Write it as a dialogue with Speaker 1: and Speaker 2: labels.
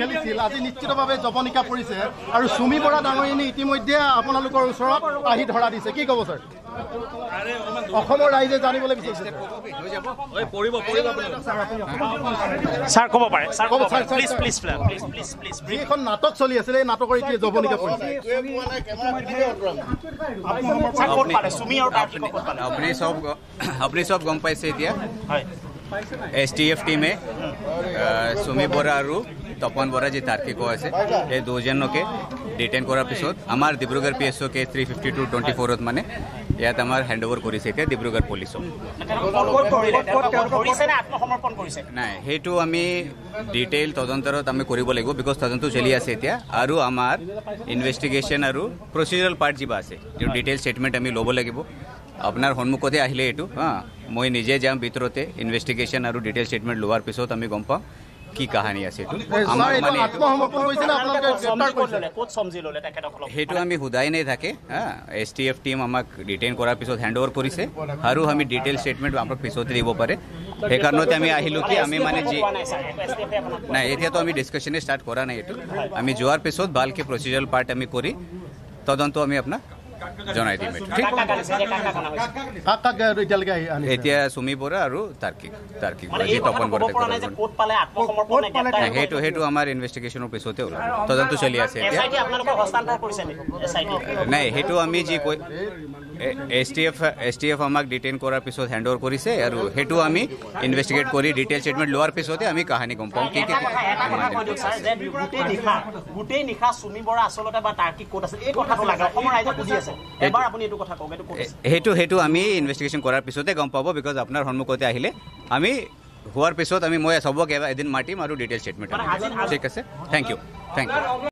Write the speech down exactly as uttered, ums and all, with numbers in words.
Speaker 1: খেলিছিল আজি নিশ্চিতভাৱে জবনিকা পৰিছে আৰু সুমি বৰা ডাঙৰীয়ানী ইতিমধ্যে আপোনালোকৰ ওচৰত আহি ধৰা দিছে। কি ক'ব ছাৰ, অসমৰ ৰাইজে জানিবলৈ বিচাৰিছে?
Speaker 2: ছাৰ ক'ব পাৰে, ছাৰ ক'ব পাৰে, প্লিজ প্লিজ প্লিজ প্লিজ।
Speaker 1: যিখন নাটক চলি আছিলে এই নাটকৰ এতিয়া জবনিকা পৰিছে।
Speaker 3: আপুনি চব আপুনি চব গম পাইছে এতিয়া। এছ টি এফ টিমে সুমি বৰা আৰু তপন বৰা যি তাৰ্কিকো আছে সেই দুজনকে ডিটেইন কৰাৰ পিছত আমাৰ Dibrugarh P S O K three fifty two twenty ফ'ৰত মানে ইয়াত আমাৰ হেণ্ড অভাৰ কৰিছে এতিয়া ডিব্ৰুগড় পুলিচক। নাই, সেইটো আমি ডিটেইল তদন্তত আমি কৰিব লাগিব, because তদন্ত চলি আছে এতিয়া আৰু আমাৰ ইনভেষ্টিগেশ্যন আৰু প্ৰচিডাৰেল পাৰ্ট যিবা আছে যিটো ডিটেইল ষ্টেটমেণ্ট আমি ল'ব লাগিব। আপোনাৰ সন্মুখতে আহিলে এইটো, হা, মই নিজে যাম ভিতৰতে ইনভেষ্টিগেশ্যন আৰু ডিটেইল ষ্টেটমেণ্ট লোৱাৰ পিছত আমি গম পাম কি কাহানী আছে এইটো। আমাৰ মানে সেইটো আমি সোধাই নাই থাকে। হা, এছ টি এফ টিম আমাক ডিটেইন কৰাৰ পিছত হেণ্ড অভাৰ কৰিছে আৰু আমি ডিটেইল ষ্টেটমেণ্ট আমাক পিছতে দিব পাৰে। সেইকাৰণতে আমি আহিলোঁ কি আমি মানে যি নাই এতিয়াতো আমি ডিছকাশ্যনে ষ্টাৰ্ট কৰা নাই। এইটো আমি যোৱাৰ পিছত ভালকৈ প্ৰচিডাৰেল পাৰ্ট আমি কৰি তদন্ত আমি আপোনাক জনাই দিম। ঠিক, এতিয়া সুমি বৰা আৰু তাৰ্কিক তাৰ্কিক বৰা যি তপন বৰা, সেইটো সেইটো আমাৰ ইনভেষ্টিগেশ্যনৰ পিছতে ওলাব, তদন্ত চলি আছে এতিয়া। নাই, সেইটো আমি যি কৈ S T F S T F আমাক ডিটেইন কৰাৰ পিছত হেণ্ড অভাৰ কৰিছে আৰু সেইটো আমি ইনভেষ্টিগেট কৰি ডিটেইল ষ্টেটমেণ্ট লোৱাৰ পিছতে আমি কাহানী গম পাম। কি কি
Speaker 2: গোটেই নিশা সুমি বৰা আচলতে বা তাৰ্কিক ক'ত আছিল এই কথাটো লাগে অসমৰ ৰাইজে সুধি আছে।
Speaker 3: সেইটো সেইটো আমি ইনভেষ্টিগেশ্যন কৰাৰ পিছতে গম পাব, because আপোনাৰ সন্মুখতে আহিলে আমি হোৱাৰ পিছত আমি মই চবক এদিন মাতিম আৰু ডিটেইল ষ্টেটমেণ্ট। ঠিক আছে, thank U, thank U.